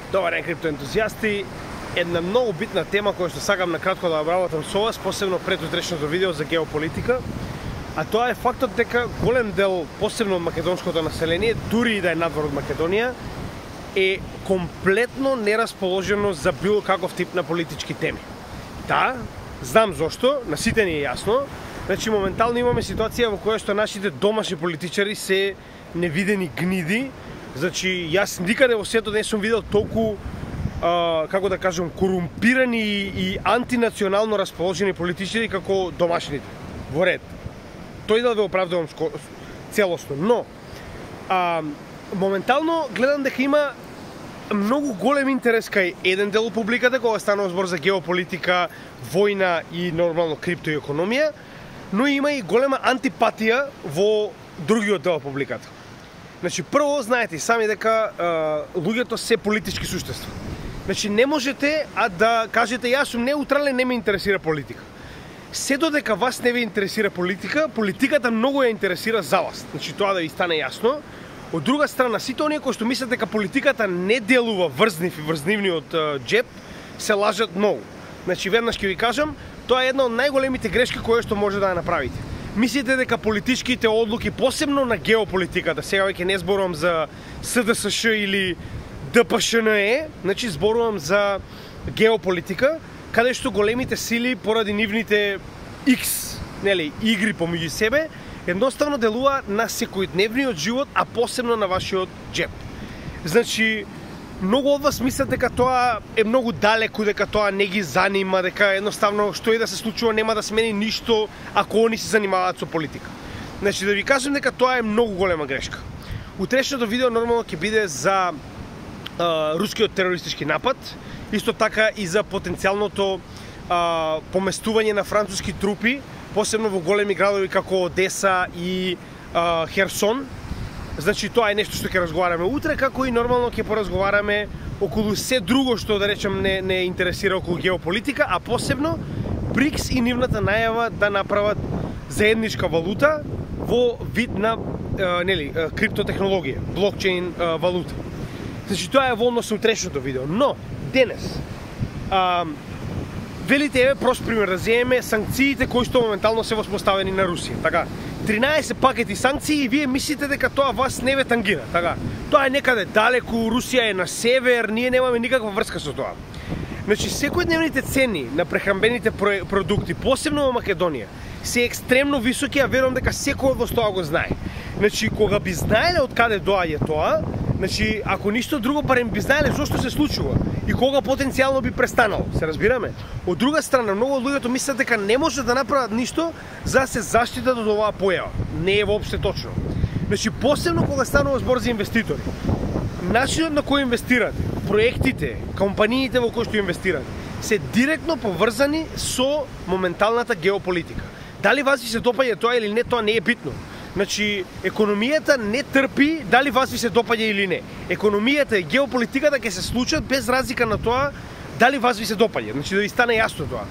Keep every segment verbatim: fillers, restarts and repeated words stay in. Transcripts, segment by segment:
Добар ден, криптоентузијасти. Една многу битна тема која што сакам на кратко да обработам со вас, посебно пред утрешното видео за геополитика, а тоа е фактот дека голем дел, посебно од македонското население, дури и да е надвор од Македонија, е комплетно нерасположено за било каков тип на политички теми. Да, знам зошто, на сите ни е јасно. Значи, моментално имаме ситуација во која што нашите домашни политичари се невидени гниди. Значи, јас никаде во светот не сум видел толку, а, како да кажам, корумпирани и антинационално расположени политичари како домашните. Во ред. Тој да ве оправдувам целосно, но а, моментално гледам дека има многу голем интерес кај еден дел од публиката кога станува збор за геополитика, војна и нормално крипто и економија, но има и голема антипатија во другиот дел од публиката. Значи, прво, знаете и сами дека а, луѓето се политички суштества. Значи, не можете а да кажете јас сум неутрален, не ме интересира политика. Се додека вас не ве интересира политика, политиката многу ја интересира за вас. Значи, тоа да ви стане јасно. Од друга страна, сите оние кои што мислат дека политиката не делува врзнив и врзнивни од а, джеб, се лажат многу. Значи, веднаш ќе ви кажам, тоа е една од најголемите грешки кои што може да ја направите. Мислите дека политичките одлуки, посебно на геополитиката, сега веќе не зборувам за С Д С Ш или Д П Ш Н Е, значи зборувам за геополитика, каде што големите сили поради нивните X, нели, игри помеѓу себе, едноставно делува на секојдневниот живот, а посебно на вашиот джеб. Значи, многу од вас мислат дека тоа е многу далеку, дека тоа не ги занима, дека едноставно што и да се случува нема да смени ништо ако они се занимаваат со политика. Значи, да ви кажам дека тоа е многу голема грешка. Утрешното видео нормално ќе биде за а, рускиот терористички напад, исто така и за потенцијалното а, поместување на француски трупи, посебно во големи градови како Одеса и а, Херсон. Значи, тоа е нешто што ќе разговараме утре, како и нормално ќе поразговараме околу се друго што, да речем, не, не интересира околу геополитика, а посебно БРИКС и нивната најава да направат заедничка валута во вид на е, нели, криптотехнологија, блокчейн е, валута. Значи, тоа е во однос на утрешното видео. Но, денес, а, велите, еве, прост пример да земеме санкциите кои што моментално се воспоставени на Русија. Така, тринаесет пакети санкции и вие мислите дека тоа вас не ве тангира, така? Тоа е некаде далеку, Русија е на север, ние немаме никаква врска со тоа. Значи, секојдневните цени на прехранбените продукти, посебно во Македонија, се екстремно високи, а верувам дека секој од вас тоа го знае. Значи, кога би знаеле од каде доаѓа тоа, значи, ако ништо друго, барем би знаеле зошто се случува и кога потенцијално би престанало, се разбираме? Од друга страна, многу од луѓето мислат дека не може да направат ништо за да се заштитат од оваа појава. Не е воопште точно. Значи, посебно кога станува збор за инвеститори. Начинот на кој инвестирате, проектите, компаниите во кои што инвестирате, се директно поврзани со моменталната геополитика. Дали вас ви се допаѓа тоа или не, тоа не е битно. Значи, економијата не трпи дали вас ви се допаѓа или не. Економијата и геополитиката ќе се случат без разлика на тоа дали вас ви се допаѓа. Значи, да ви стане јасно тоа.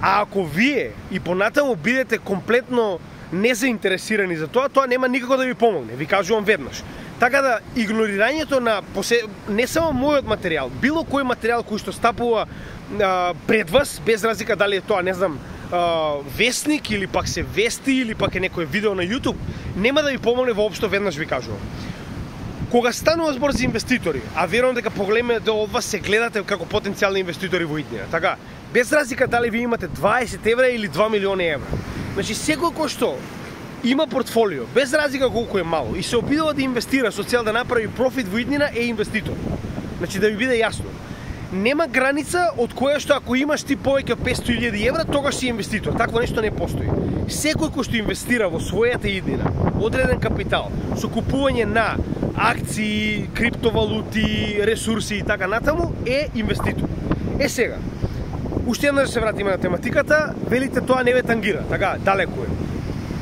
А ако вие и понатаму бидете комплетно незаинтересирани за тоа, тоа нема никако да ви помогне. Ви кажувам веднаш. Така да, игнорирањето на посе... не само мојот материјал, било кој материјал кој што стапува а, пред вас, без разлика дали е тоа, не знам, а, вестник или пак се вести или пак е некој видео на YouTube, нема да ви помогне воопшто, веднаш ви кажувам. Кога станува збор за инвеститори, а верувам дека поголемиот дел од вас се гледате како потенцијални инвеститори во иднина, така, без разлика дали ви имате дваесет евра или два милиони евра. Значи, секој кој што има портфолио, без разлика колку е мало, и се обидува да инвестира со цел да направи профит во иднина, е инвеститор. Значи, да ви биде јасно. Нема граница од која што ако имаш ти повеќе од петстотини илјади евра, тогаш си инвеститор. Такво нешто не постои. Секој кој што инвестира во својата иднина, одреден капитал, со купување на акции, криптовалути, ресурси и така натаму, е инвеститор. Е сега, уште еднаш се вратиме на тематиката, велите тоа не ве тангира, така, далеку е.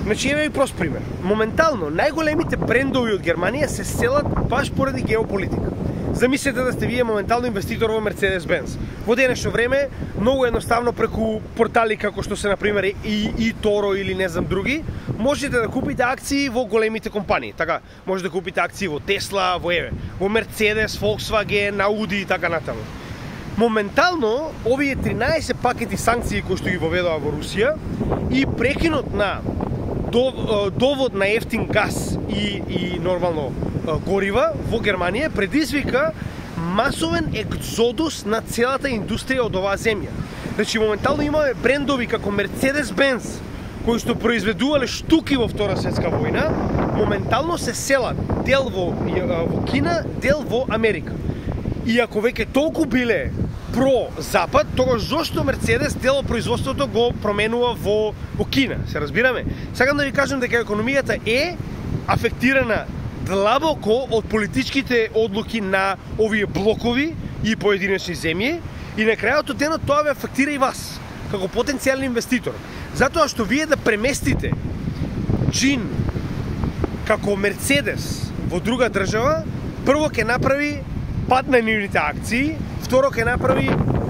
Значи, еве и прост пример. Моментално, најголемите брендови од Германија се селат баш поради геополитика. Замислете да сте вие моментално инвеститор во Mercedes-Benz. Во денешно време, многу едноставно преку портали како што се, например, и, и Торо или не знам други, можете да купите акции во големите компании, така, можете да купите акции во Тесла, во Еве, во Мерцедес, Volkswagen, Audi и така натаму. Моментално, овие тринаесет пакети санкции кои што ги воведува во Русија и прекинот на довод на ефтин газ и, и нормално горива во Германија предизвика масовен екзодус на целата индустрија од оваа земја. Значи, моментално имаме брендови како Mercedes-Benz, кои што произведувале штуки во Втора светска војна, моментално се селат дел во, во Кина, дел во Америка. И ако веќе толку биле про-запад, тогаш зошто Мерцедес дел од производството го променува во, во Кина, се разбираме? Сакам да ви кажам дека економијата е афектирана длабоко од политичките одлуки на овие блокови и поединечни земји и на крајот од денот тоа ве афектира и вас, како потенцијален инвеститор. Затоа што вие да преместите джин како Мерцедес во друга држава, прво ќе направи пад на нивните акции, второ ќе направи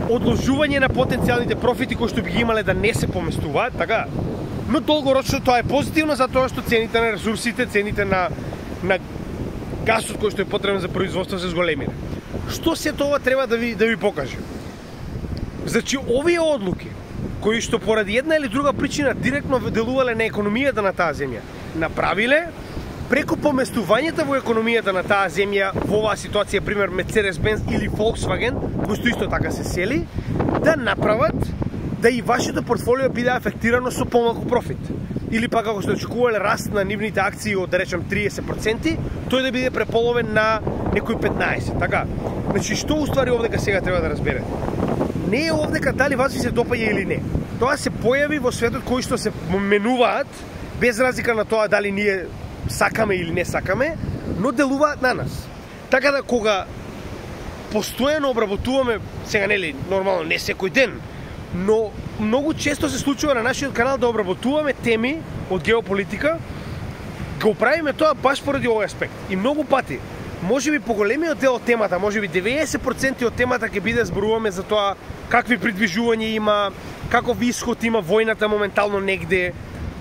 одложување на потенцијалните профити кои што би ги имале да не се поместуваат, така? Но долгорочно тоа е позитивно затоа што цените на ресурсите, цените на на гасот кој што е потребен за производство се зголемиле. Што се тоа треба да ви да ви покажем? Значи овие одлуки кои што поради една или друга причина директно делувале на економијата на таа земја, направиле преку поместувањето во економијата на таа земја во оваа ситуација, пример Mercedes-Benz или Volkswagen, кои што исто така се сели, да направат да и вашето портфолио биде афектирано со помалку профит. Или пак ако сте очекувале раст на нивните акции од, да речем, триесет проценти, тој да биде преполовен на некои петнаесет. Така, значи што уствари овдека сега треба да разберете? Не е овдека дали вас ви се допаѓа или не. Тоа се појави во светот кои што се менуваат, без разлика на тоа дали ние сакаме или не сакаме, но делуваат на нас. Така да кога постојано обработуваме, сега нели, нормално не секој ден, но многу често се случува на нашиот канал да обработуваме теми од геополитика, го правиме тоа баш поради овој аспект. И многу пати, можеби поголемиот дел од темата, можеби деветдесет проценти од темата ќе биде зборуваме за тоа какви придвижувања има, каков исход има војната моментално негде,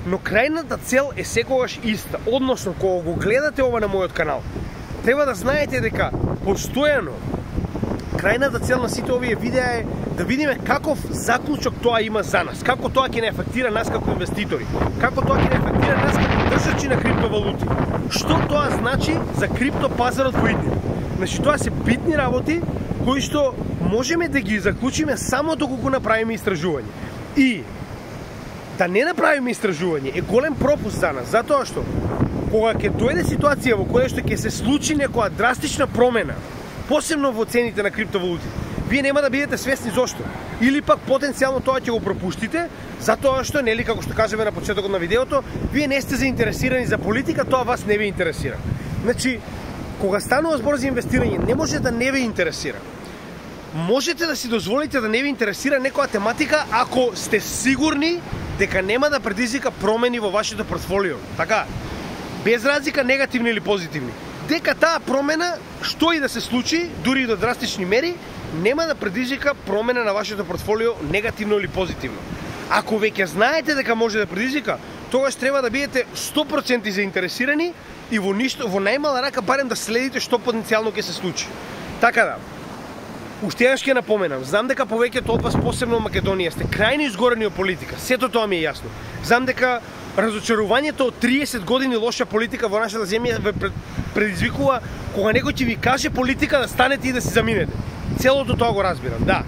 но крајната цел е секогаш иста. Односно, кога го гледате ова на мојот канал, треба да знаете дека постојано крајната цел на сите овие видеа е да видиме каков заклучок тоа има за нас, како тоа ќе не афектира нас како инвеститори, како тоа ќе не афектира нас како држачи на криптовалути. Што тоа значи за криптопазарот во иднина? Значи тоа се битни работи кои што можеме да ги заклучиме само доколку направиме истражување. И да не направиме истражување е голем пропуст за нас, затоа што кога ќе дојде ситуација во која што ќе се случи некоја драстична промена, посебно во цените на криптовалути, вие нема да бидете свесни зошто. Или пак потенцијално тоа ќе го пропуштите, затоа што, нели, како што кажеме на почетокот на видеото, вие не сте заинтересирани за политика, тоа вас не ви интересира. Значи, кога станува збор за инвестирање, не може да не ви интересира. Можете да си дозволите да не ви интересира некоја тематика ако сте сигурни дека нема да предизвика промени во вашето портфолио. Така, без разлика негативни или позитивни. Дека таа промена, што и да се случи, дури и до драстични мери, нема да предизвика промена на вашето портфолио негативно или позитивно. Ако веќе знаете дека може да предизвика, тогаш треба да бидете сто проценти заинтересирани и во ништо, во најмала рака барем да следите што потенцијално ќе се случи. Така да, уште еднаш ќе напоменам, знам дека повеќето од вас, посебно во Македонија, сте крајно изгорени од политика, сето тоа ми е јасно. Знам дека разочарувањето од триесет години лоша политика во нашата земја ве предизвикува кога некој ќе ви каже политика да станете и да се заминете. Целото тоа го разбирам, да.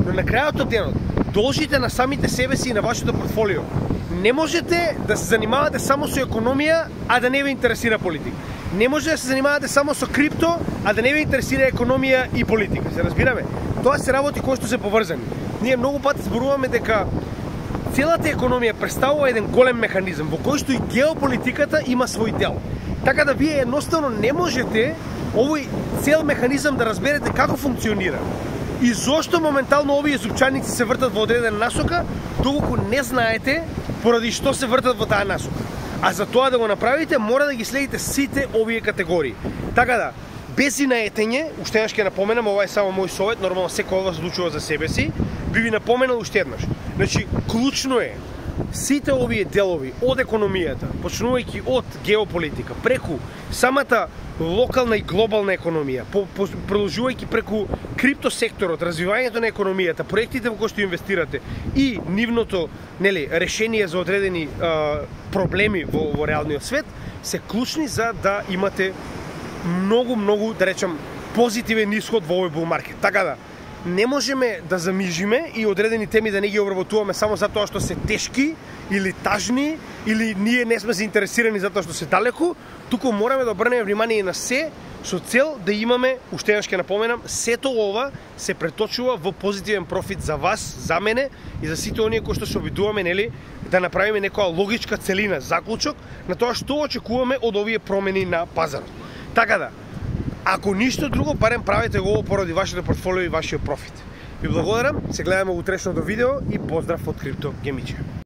Но на крајот од денот, должите на самите себе си и на вашето портфолио. Не можете да се занимавате само со економија, а да не ви интересира политика. Не може да се занимавате само со крипто, а да не ви интересира економија и политика. Се разбираме? Тоа се работи кои што се поврзани. Ние многу пати зборуваме дека целата економија представува еден голем механизам во кој што и геополитиката има свој дел. Така да вие едноставно не можете овој цел механизам да разберете како функционира и зошто моментално овие зупчаници се вртат во одредена насока, доколку не знаете поради што се вртат во таа насока. А за тоа да го направите, мора да ги следите сите овие категории. Така да, без инаетење, уште еднаш ќе напоменам, ова е само мој совет, нормално секој од вас одлучува за себе си, би ви напоменал уште еднаш. Значи, клучно е сите овие делови од економијата, почнувајќи од геополитика, преку самата локална и глобална економија, по, по, продолжувајќи преку криптосекторот, развивањето на економијата, проектите во кои што инвестирате и нивното, нели, решение за одредени а, проблеми во, во реалниот свет, се клучни за да имате многу, многу, да речам, позитивен исход во овој bull market. Така да, не можеме да замижиме и одредени теми да не ги обработуваме само затоа што се тешки или тажни, или ние не сме заинтересирани затоа што се далеку, туку мораме да обрнеме внимание на се со цел да имаме, уште еднаш ќе напоменам, сето ова се преточува во позитивен профит за вас, за мене и за сите оние кои што се обидуваме, нели, да направиме некоја логичка целина, заклучок на тоа што очекуваме од овие промени на пазарот. Така да, ако ништо друго, барем правете го поради вашето портфолио и вашиот профит. Ви благодарам, се гледаме во утрешното видео и поздрав од Крипто Гемиче.